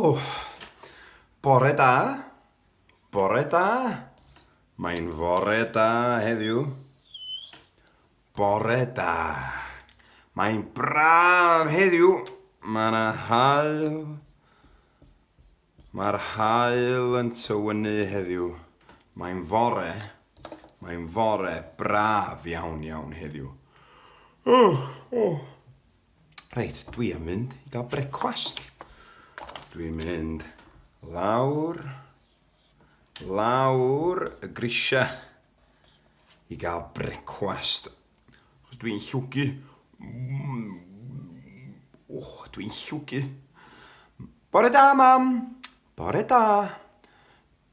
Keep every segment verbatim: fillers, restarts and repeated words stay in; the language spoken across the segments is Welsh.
O, bore da. Bore da. Mae'n fore da heddiw. Bore da. Mae'n braf heddiw. Mae yna haul. Mae'r haul yn tywynnu heddiw. Mae'n fore. Mae'n fore braf iawn iawn heddiw. Oh, oh. Reit, dwi am mynd i gael brecwast. Dwi'n mynd lawr, lawr y grisiau i gael brecwast. Achos dwi'n llwgu. Oh, dwi'n llwgu. Bore da, mam. Bore da.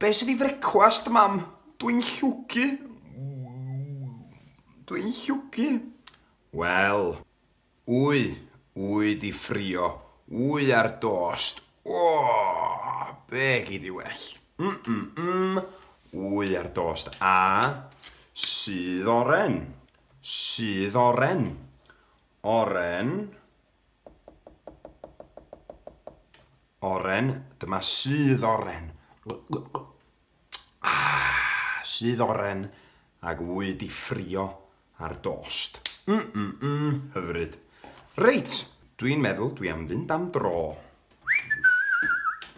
Be sydd i frecwast, mam? Dwi'n llwgu. Dwi'n llwgu. Wel, wy, wy di ffrio, wy ar dost. O, be gyd i well. Mm, mm, mm. Wy ar dost. A sydd oren. Sydd oren. Oren. Oren. Dyma sydd oren. Ah, sydd oren. Ag wy di ffrio ar dost. Mm, mm, mm, hyfryd. Reit, dwi'n meddwl dwi am fynd am dro.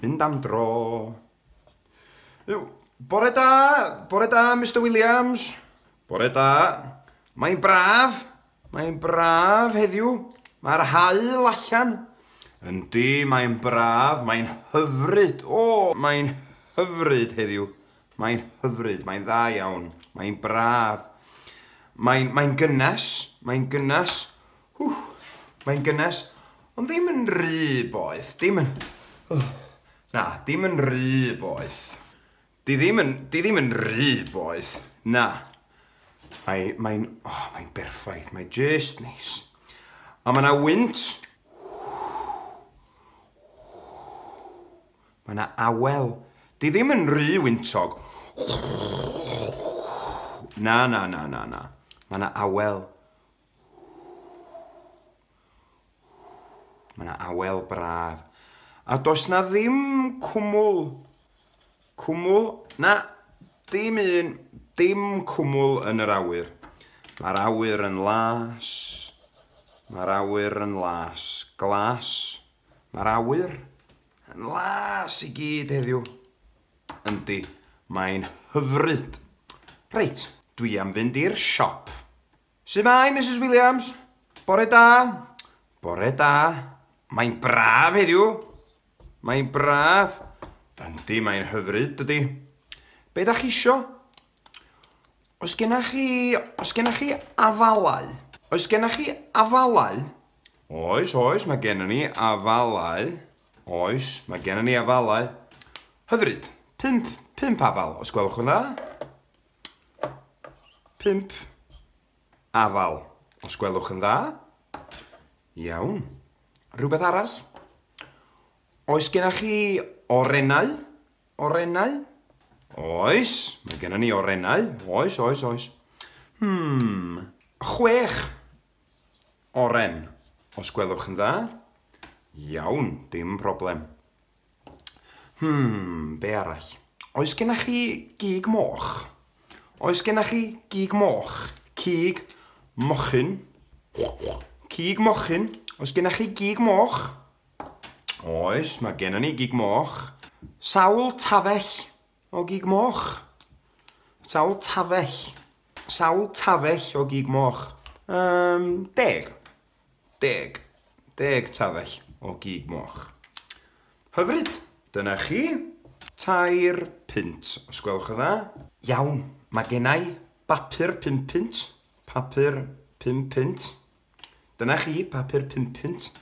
Mynd am dro. Bore da, bore da, Mister Williams. Bore da. Mae'n braf, mae'n braf heddiw. Mae'r haul allan. Yndi, mae'n braf, mae'n hyfryd. O, mae'n hyfryd heddiw. Mae'n hyfryd, mae'n dda iawn. Mae'n braf. Mae'n mae gynnes, mae'n gynnes. Hw, mae'n gynnes, ond ddim yn rhy boeth. Dim yn... Oh. Na, dim yn rhy boeth. Di ddim yn, di ddim yn rhy boeth. Na. Mae'n, mae oh, mae'n berffaith, mae'n just neis. A mae yna wynt. Mae yna awel. Di ddim yn rhy wyntog. Na, na, na, na, na. Mae yna awel. Mae yna awel braf. A does na ddim cwmwl. Cwmwl? Na, dim un, dim cwmwl yn yr awyr. Mae'r awyr yn las. Mae'r awyr yn las. Glas. Mae'r awyr yn las i gyd heddiw. Yndi, mae'n hyfryd. Reit, dwi am fynd i'r siop. Su'mai, Missus Williams? Bore da. Bore da. Mae'n braf heddiw. Mae'n braf. Yndi, mae'n hyfryd, dydi. Be da chi isio? Oes gennych chi... Oes gennych chi afalau? Oes gennych chi afalau? Oes, oes, mae gennym ni afalau. Oes, mae gennym ni afalau. Hyfryd. Pump, pump afal, os gwelwch yn dda. Pump afal, os gwelwch yn dda. Iawn. Rhywbeth arall? Oes gennych chi orennau? Orennau? Oes, mae gennym ni orennau. Oes, oes, oes. Hmm, chwech oren, os gwelwch yn dda. Iawn, dim problem. Hmm, be arall? Oes gennych chi gig moch? Oes gennych chi gig moch? Cig mochyn. Cig mochyn. Oes gennych chi gig moch? Oes, mae gennym ni gig moch. Sawl tafell o gig moch. Sawl tafell. Sawl tafell o gig moch. Um, deg. Deg. Deg tafell o gig moch. Hyfryd. Dyna chi. Tair punt, os gwelwch yn dda. Iawn, mae gennai bapur pum punt. Papur pum punt. Dyna chi, papur pum punt.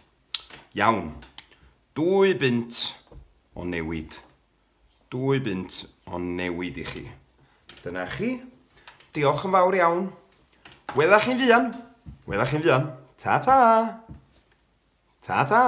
Iawn. Dwy bunt o newid. Dwy bunt o newid i chi. Dyna chi. Diolch yn fawr iawn. Wela chi'n fuan. Wela chi'n fuan. Ta-ta. Ta-ta.